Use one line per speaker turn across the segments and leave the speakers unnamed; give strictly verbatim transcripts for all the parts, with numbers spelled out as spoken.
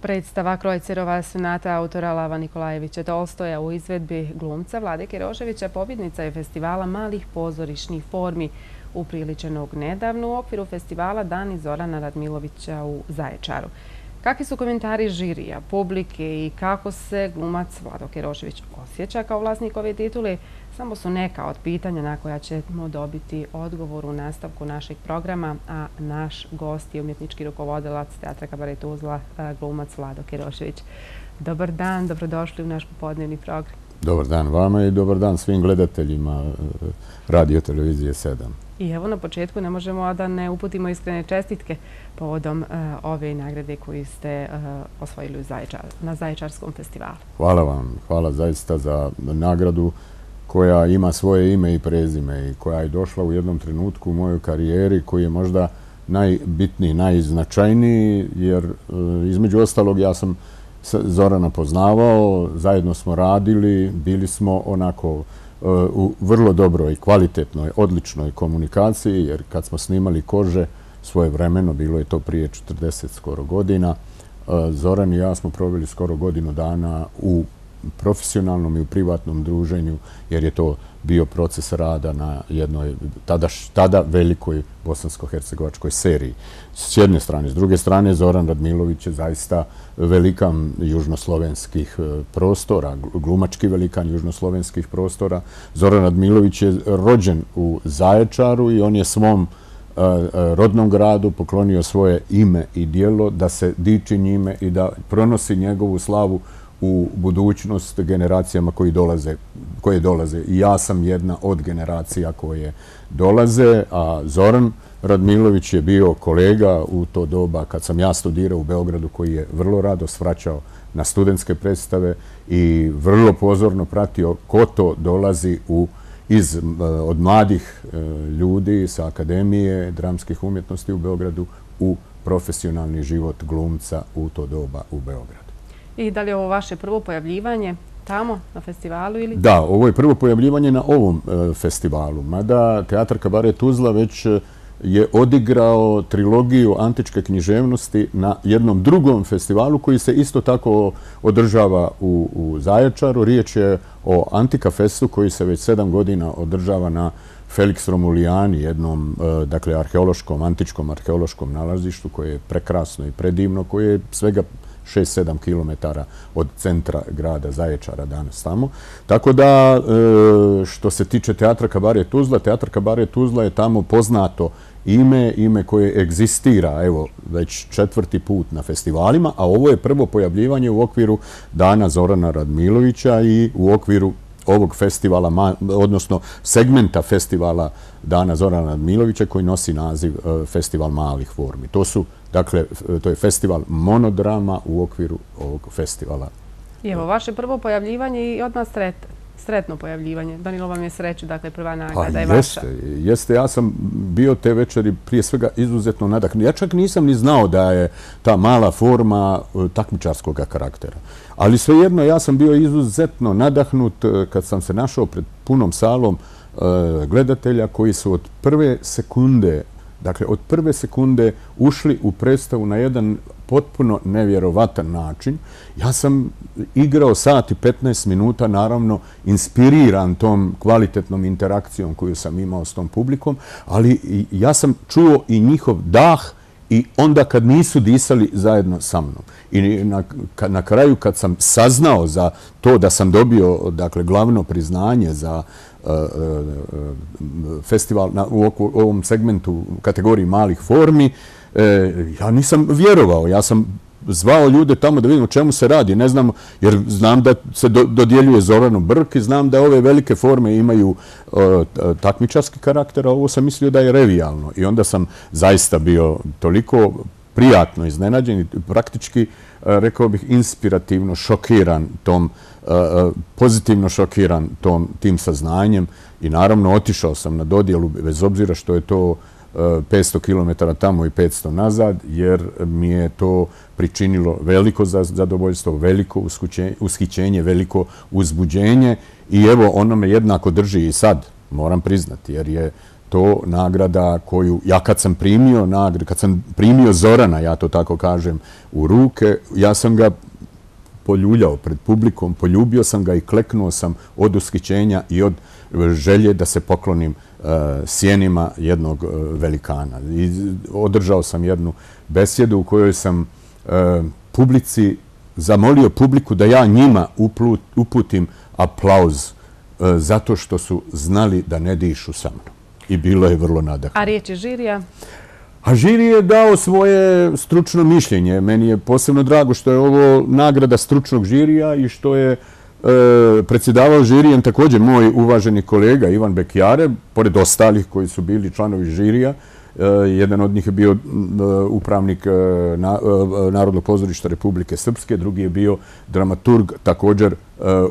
Predstava Krojcerova sonata autora Lava Nikolajevića Tolstoja u izvedbi glumca Vlade Keroševića pobjednica je festivala malih pozorišnih formi upriličenog nedavno u okviru festivala Dani Zorana Radmilovića u Zaječaru. Kakvi su komentari žirija, publike i kako se glumac Vlado Kerošević osjeća kao vlasnik ove titule, samo su neka od pitanja na koja ćemo dobiti odgovor u nastavku našeg programa, a naš gost je umjetnički rukovodilac Teatra Kabaret Tuzla, glumac Vlado Kerošević. Dobar dan, dobrodošli u naš popodnevni program.
Dobar dan vama i dobar dan svim gledateljima Radio Televizije sedam.
I evo na početku ne možemo a da ne uputimo iskrene čestitke povodom ove nagrade koju ste osvojili na Zaječarskom festivalu.
Hvala vam, hvala zaista za nagradu koja ima svoje ime i prezime i koja je došla u jednom trenutku u mojoj karijeri koji je možda najbitniji, najznačajniji, jer između ostalog ja sam Zorana poznavao, zajedno smo radili, bili smo onako u vrlo dobroj, kvalitetnoj, odličnoj komunikaciji, jer kad smo snimali Kože svojevremeno, bilo je to prije četrdeset skoro godina, Zoran i ja smo proveli skoro godinu dana u profesionalnom i u privatnom druženju, jer je to bio proces rada na jednoj tada velikoj bosansko-hercegovačkoj seriji. S jedne strane. S druge strane, Zoran Radmilović je zaista velikan južnoslovenskih prostora, glumački velikan južnoslovenskih prostora. Zoran Radmilović je rođen u Zaječaru i on je svom rodnom gradu poklonio svoje ime i djelo da se diči njime i da pronosi njegovu slavu u budućnost generacijama koje dolaze. I ja sam jedna od generacija koje dolaze, a Zoran Radmilović je bio kolega u to doba kad sam ja studirao u Beogradu, koji je vrlo rado svraćao na studentske predstave i vrlo pozorno pratio ko to dolazi od mladih ljudi sa Akademije dramskih umjetnosti u Beogradu u profesionalni život glumca u to doba u Beogradu.
I da li je ovo vaše prvo pojavljivanje tamo na festivalu ili?
Da, ovo je prvo pojavljivanje na ovom festivalu. Mada Teatar Kabaret Tuzla već je odigrao trilogiju antičke književnosti na jednom drugom festivalu koji se isto tako održava u Zaječaru. Riječ je o Antika Festu koji se već sedam godina održava na Felix Romulijani, jednom dakle arheološkom, antičkom arheološkom nalazištu koje je prekrasno i predivno, koje je svega šest sedam kilometara od centra grada Zaječara danas tamo. Tako da, što se tiče Teatra Kabaret Tuzla, Teatar Kabaret Tuzla je tamo poznato ime, ime koje egzistira, evo, već četvrti put na festivalima, a ovo je prvo pojavljivanje u okviru Dana Zorana Radmilovića i u okviru ovog festivala, odnosno segmenta festivala Dana Zorana Radmilovića koji nosi naziv Festival malih formi. To su, dakle, to je festival monodrama u okviru ovog festivala.
I evo, vaše prvo pojavljivanje i odmah sretno pojavljivanje. Donilo vam je sreću, dakle, prva nagrada je vaša.
Jeste, ja sam bio te večeri prije svega izuzetno nadahnut. Ja čak nisam ni znao da je ta mala forma takmičarskog karaktera. Ali svejedno, ja sam bio izuzetno nadahnut kad sam se našao pred punom salom gledatelja koji su od prve sekunde, dakle, od prve sekunde ušli u predstavu na jedan potpuno nevjerovatan način. Ja sam igrao sat i petnaest minuta, naravno, inspiriran tom kvalitetnom interakcijom koju sam imao s tom publikom, ali ja sam čuo i njihov dah i onda kad nisu disali zajedno sa mnom. I na kraju kad sam saznao za to da sam dobio, dakle, glavno priznanje za festival u ovom segmentu kategoriji malih formi, ja nisam vjerovao. Ja sam zvao ljude tamo da vidim o čemu se radi. Ne znam, jer znam da se dodjeljuje Zoranu Brk i znam da ove velike forme imaju takmičarski karakter, a ovo sam mislio da je revijalno. I onda sam zaista bio toliko prijatno iznenađen i praktički, rekao bih, inspirativno šokiran tom, pozitivno šokiran tim saznanjem i naravno otišao sam na dodjelu bez obzira što je to petsto kilometara tamo i petsto nazad, jer mi je to pričinilo veliko zadovoljstvo, veliko ushićenje, veliko uzbuđenje i evo ono me jednako drži i sad, moram priznati, jer je to nagrada koju, ja kad sam primio nagradu, kad sam primio Zorana, ja to tako kažem, u ruke, ja sam ga poljuljao pred publikom, poljubio sam ga i kleknuo sam od ushićenja i od želje da se poklonim sjenima jednog velikana. I održao sam jednu besjedu u kojoj sam publici zamolio publiku da ja njima uputim aplauz zato što su znali da ne dišu sa mnom. I bilo je vrlo nadahnuto.
A riječ je žirija?
A žiri je dao svoje stručno mišljenje. Meni je posebno drago što je ovo nagrada stručnog žirija i što je predsjedavao žirijem također moj uvaženi kolega Ivan Bekjare, pored ostalih koji su bili članovi žirija. Jedan od njih je bio upravnik Narodnog pozorišta Republike Srpske, drugi je bio dramaturg, također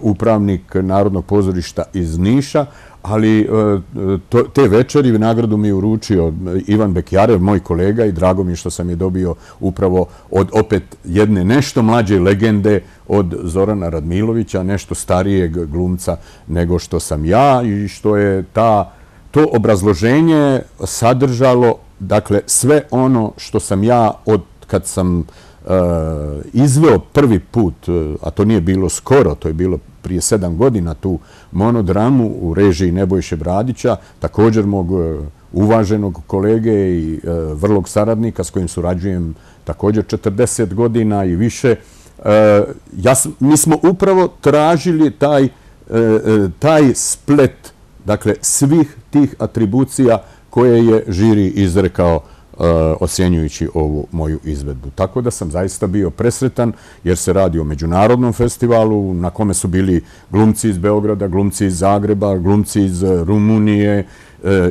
upravnik Narodnog pozorišta iz Niša, ali te večeri nagradu mi je uručio Ivan Bekjarev, moj kolega, i drago mi je što sam je dobio upravo od opet jedne nešto mlađe legende od Zorana Radmilovića, nešto starijeg glumca nego što sam ja, i što je ta to obrazloženje sadržalo, dakle, sve ono što sam ja od kad sam izveo prvi put, a to nije bilo skoro, to je bilo prije sedam godina, tu monodramu u režiji Nebojše Bradića, također mog uvaženog kolege i vrlog saradnika s kojim surađujem također četrdeset godina i više. Mi smo upravo tražili taj splet, dakle, svih tih atribucija koje je žiri izrekao ocjenjujući ovu moju izvedbu. Tako da sam zaista bio presretan jer se radi o međunarodnom festivalu na kome su bili glumci iz Beograda, glumci iz Zagreba, glumci iz Rumunije,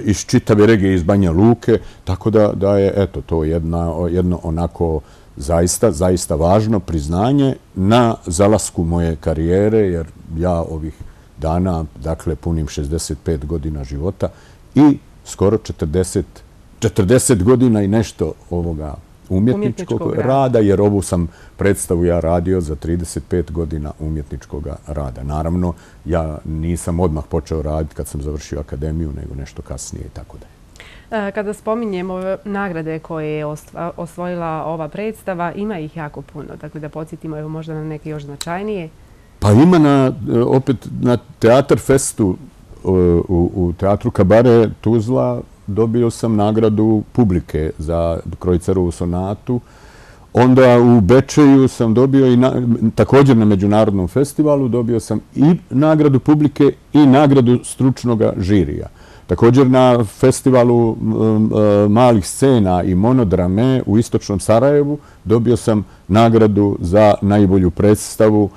iz čitave regije, iz Banja Luke. Tako da je, eto, to jedno onako zaista, zaista važno priznanje na zalasku moje karijere, jer ja ovih dana, dakle, punim šezdeset pet godina života i skoro četrdeset četrdeset godina i nešto ovoga umjetničkog rada, jer ovu sam predstavu ja radio za trideset pet godina umjetničkog rada. Naravno, ja nisam odmah počeo raditi kad sam završio akademiju, nego nešto kasnije i tako dalje.
Kada spominjemo nagrade koje je osvojila ova predstava, ima ih jako puno. Dakle, da podsjetimo evo možda na neke još značajnije.
Pa ima na, opet na Teatar Festu u Teatru Kabare Tuzla dobio sam nagradu publike za Krojcerovu sonatu. Onda u Bečeju sam dobio i također na međunarodnom festivalu dobio sam i nagradu publike i nagradu stručnog žirija. Također na festivalu malih scena i monodrame u Istočnom Sarajevu dobio sam nagradu za najbolju predstavu.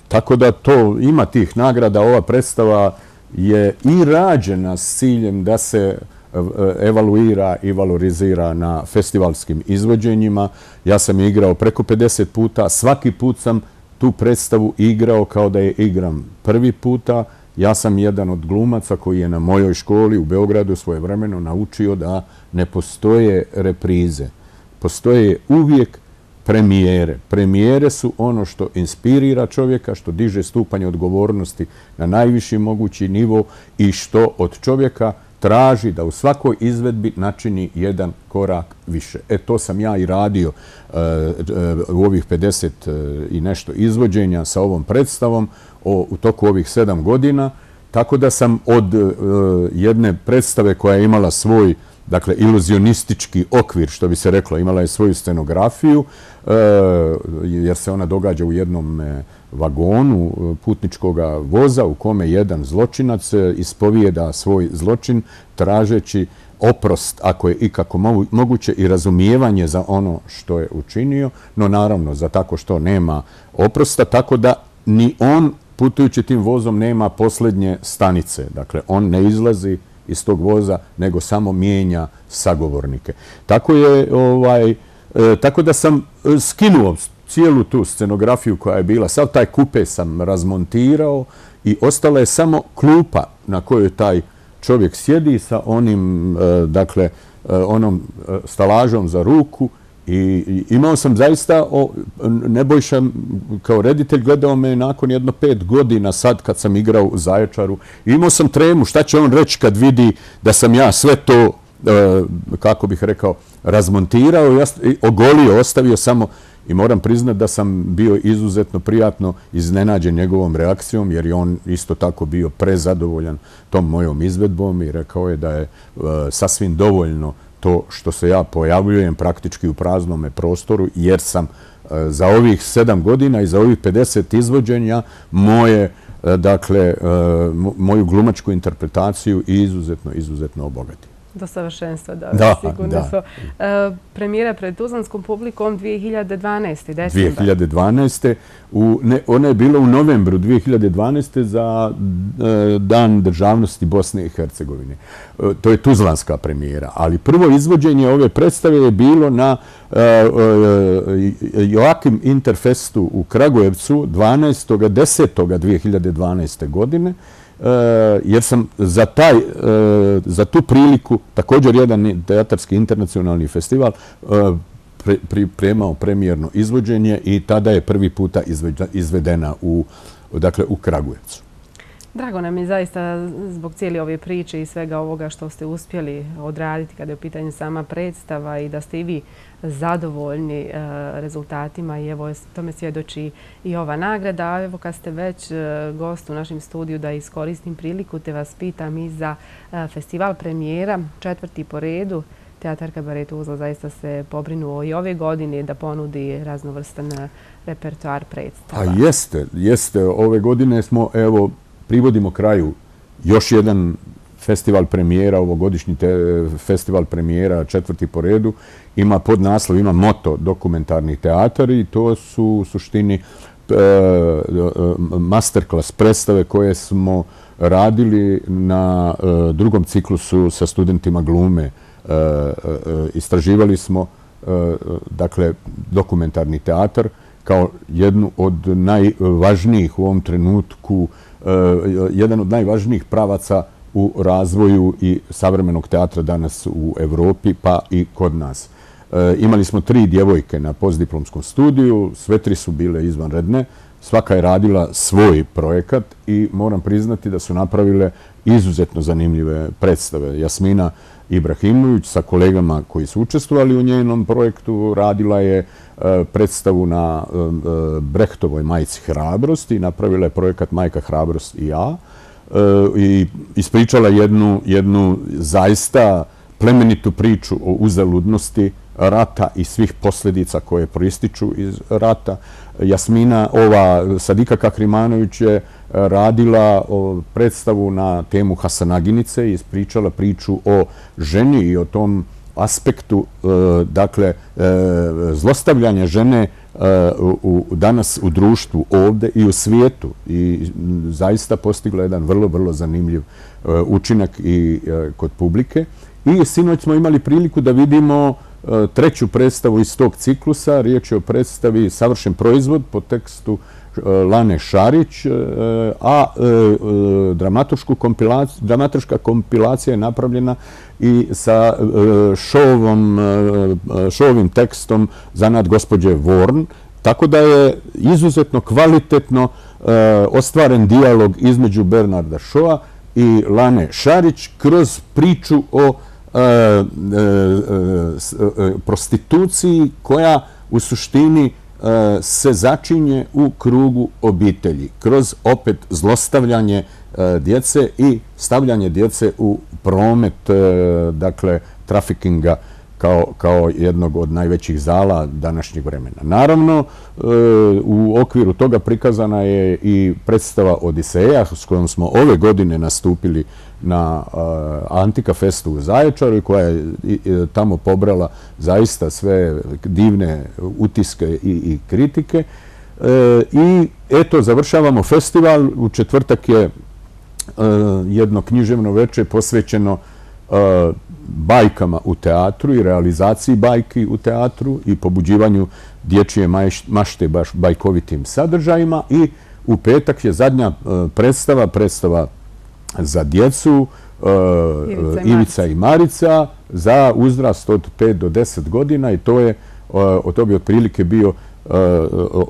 Tako da to ima tih nagrada. Ova predstava je i rađena s ciljem da se evaluira i valorizira na festivalskim izvođenjima. Ja sam igrao preko pedeset puta. Svaki put sam tu predstavu igrao kao da je igram prvi puta. Ja sam jedan od glumaca koji je na mojoj školi u Beogradu svojevremeno naučio da ne postoje reprize. Postoje uvijek premijere. Premijere su ono što inspirira čovjeka, što diže stupanj odgovornosti na najviši mogući nivo i što od čovjeka traži da u svakoj izvedbi načini jedan korak više. E, to sam ja i radio u ovih pedeset i nešto izvođenja sa ovom predstavom u toku ovih sedam godina, tako da sam od jedne predstave koja je imala svoj, dakle, iluzionistički okvir, što bi se reklo, imala je svoju scenografiju, jer se ona događa u jednom vagonu putničkog voza u kome jedan zločinac ispovijeda svoj zločin tražeći oprost, ako je ikako moguće, i razumijevanje za ono što je učinio, no naravno za tako što nema oprosta, tako da ni on putujući tim vozom nema posljednje stanice. Dakle, on ne izlazi iz tog voza, nego samo mijenja sagovornike. Tako je, ovaj, tako da sam skinuo cijelu tu scenografiju koja je bila. Sav taj kupe sam razmontirao i ostala je samo klupa na kojoj taj čovjek sjedi sa onim, dakle, onom stalažom za ruku I imao sam zaista, Nebojša kao reditelj gledao me nakon jedno pet godina sad kad sam igrao u Zaječaru. Imao sam tremu, šta će on reći kad vidi da sam ja sve to, kako bih rekao, razmontirao, ogolio, ostavio samo. I moram priznati da sam bio izuzetno prijatno iznenađen njegovom reakcijom, jer je on isto tako bio prezadovoljan tom mojom izvedbom i rekao je da je sasvim dovoljno to što se ja pojavljujem praktički u praznome prostoru, jer sam za ovih sedam godina i za ovih pedeset izvođenja moje, dakle, moju glumačku interpretaciju izuzetno, izuzetno obogatio.
Do savršenstva, da, sigurno su. Premijera pred tuzlanskom publikom dvije hiljade dvanaeste. decembar.
dvije hiljade dvanaeste. Ona je bila u novembru dvije hiljade dvanaeste za Dan državnosti Bosne i Hercegovine. To je tuzlanska premijera. Ali prvo izvođenje ove predstave je bilo na Joakim Interfestu u Kragujevcu dvanaestog desetog dvije hiljade dvanaeste. godine. Jer sam za, taj, za tu priliku, također jedan teatarski internacionalni festival, pripremao premijerno izvođenje i tada je prvi puta izvedena u, dakle, u Kragujevcu.
Drago nam je zaista zbog cijeli ove priče i svega ovoga što ste uspjeli odraditi kada je u pitanju sama predstava i da ste i vi zadovoljni rezultatima i evo tome svjedoči i ova nagrada. A evo kad ste već gost u našem studiju da iskoristim priliku te vas pitam i za festival premijera, četvrti po redu. Teatar Kabaret Tuzla zaista se pobrinuo i ove godine da ponudi raznovrstan repertoar predstava.
A jeste, jeste. Ove godine smo, evo, privodimo kraju još jedan festival premijera, ovogodišnji festival premijera, četvrti po redu. Ima podnaslov, ima moto dokumentarni teatar i to su u suštini masterclass predstave koje smo radili na drugom ciklusu sa studentima glume. Istraživali smo, dakle, dokumentarni teatar kao jednu od najvažnijih u ovom trenutku, jedan od najvažnijih pravaca u razvoju i savremenog teatra danas u Evropi, pa i kod nas. Imali smo tri djevojke na postdiplomskom studiju, sve tri su bile izvanredne, svaka je radila svoj projekat i moram priznati da su napravile izuzetno zanimljive predstave. Jasmina Ibrahimović sa kolegama koji su učestvovali u njenom projektu radila je predstavu na Brechtovoj majci Hrabrosti, napravila je projekat Majka Hrabrost i ja i ispričala jednu, jednu zaista plemenitu priču o uzaludnosti rata i svih posljedica koje proističu iz rata. Jasmina, ova Sadika Kahrimanović je radila predstavu na temu Hasanaginice i ispričala priču o ženi i o tom aspektu, dakle, zlostavljanja žene danas u društvu, ovdje i u svijetu. I zaista postigla jedan vrlo, vrlo zanimljiv učinak i kod publike. I sinoć smo imali priliku da vidimo treću predstavu iz tog ciklusa. Riječ je o predstavi Savršen proizvod po tekstu Lane Šarić, a dramatoška kompilacija je napravljena i sa šovovim tekstom Zanat gospođe Vorn, tako da je izuzetno kvalitetno ostvaren dijalog između Bernarda Šoa i Lane Šarić kroz priču o prostituciji koja u suštini se začinje u krugu obitelji, kroz opet zlostavljanje djece i stavljanje djece u promet, dakle, trafikinga kao jednog od najvećih zala današnjeg vremena. Naravno, u okviru toga prikazana je i predstava Odiseja s kojom smo ove godine nastupili na Antika Festu u Zaječaru i koja je tamo pobrala zaista sve divne utiske i kritike. I eto, završavamo festival. U četvrtak je jedno književno večer posvećeno bajkama u teatru i realizaciji bajki u teatru i pobuđivanju dječje mašte baš bajkovitim sadržajima. I u petak je zadnja predstava, predstava za djecu, Ivica i Marica, za uzrast od pet do deset godina i to je to bi otprilike bio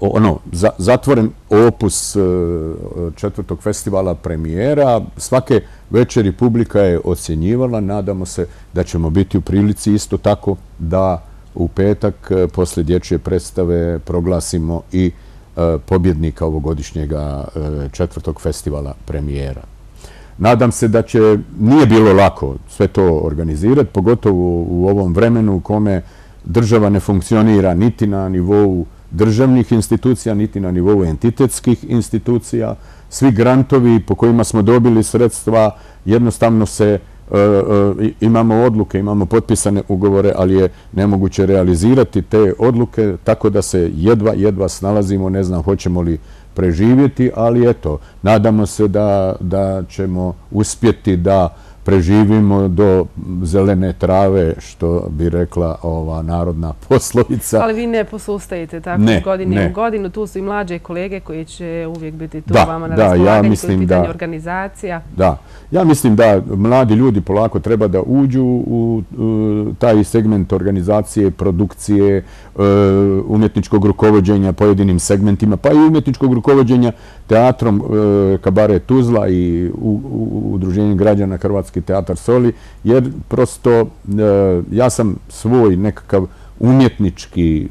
ono, zatvoren opus četvrtog festivala premijera. Svake večeri publika je ocjenjivala. Nadamo se da ćemo biti u prilici isto tako da u petak poslije dječje predstave proglasimo i pobjednika ovogodišnjeg četvrtog festivala premijera. Nadam se da će, nije bilo lako sve to organizirati, pogotovo u ovom vremenu u kome država ne funkcionira niti na nivou državnih institucija, niti na nivou entitetskih institucija. Svi grantovi po kojima smo dobili sredstva, jednostavno se imamo odluke, imamo potpisane ugovore, ali je nemoguće realizirati te odluke, tako da se jedva, jedva snalazimo, ne znam hoćemo li preživjeti, ali eto, nadamo se da, da ćemo uspjeti da preživimo do zelene trave, što bi rekla ova narodna poslovica.
Ali vi ne posustajete tako iz godine u godinu. Tu su i mlađe kolege koji će uvijek biti tu vama na raspolaganju, koji je pitanje organizacija.
Da, ja mislim da mladi ljudi polako treba da uđu u taj segment organizacije, produkcije, umjetničkog rukovođenja pojedinim segmentima, pa i umjetničkog rukovođenja teatrom Kabaret Tuzla i Udruženjem građana Hrvatski teatar Soli, jer prosto ja sam svoj nekakav umjetnički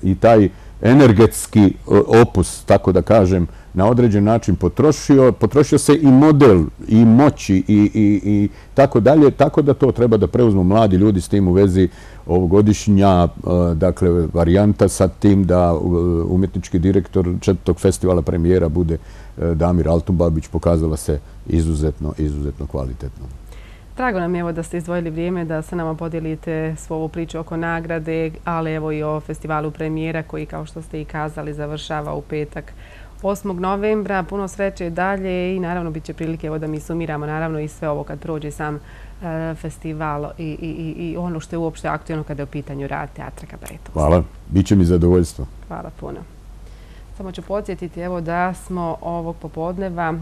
i taj energetski opus, tako da kažem, na određen način potrošio. Potrošio se i model, i moći, i tako dalje, tako da to treba da preuzmu mladi ljudi. S tim u vezi ovogodišnja, dakle, varijanta sa tim da umjetnički direktor četvrtog festivala premijera bude Damir Altubabić pokazala se izuzetno, izuzetno kvalitetno.
Drago nam je evo da ste izdvojili vrijeme da sa nama podijelite svoju priču oko nagrade, ali evo i o festivalu premijera koji, kao što ste i kazali, završava u petak osmog novembra. Puno sreće dalje i naravno bit će prilike evo da mi sumiramo naravno i sve ovo kad prođe sam festival i, i, i ono što je uopšte aktualno kada je u pitanju rad teatra Kabaret Tuzla.
Hvala, bit će mi zadovoljstvo.
Hvala puno. Samo ću podsjetiti evo da smo ovog popodneva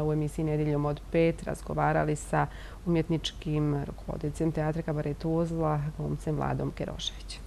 u emisiji Nedjeljom od pet razgovarali sa umjetničkim rukovoditeljem teatra Kabaret Tuzla, glumcem Vladom Keroševićem.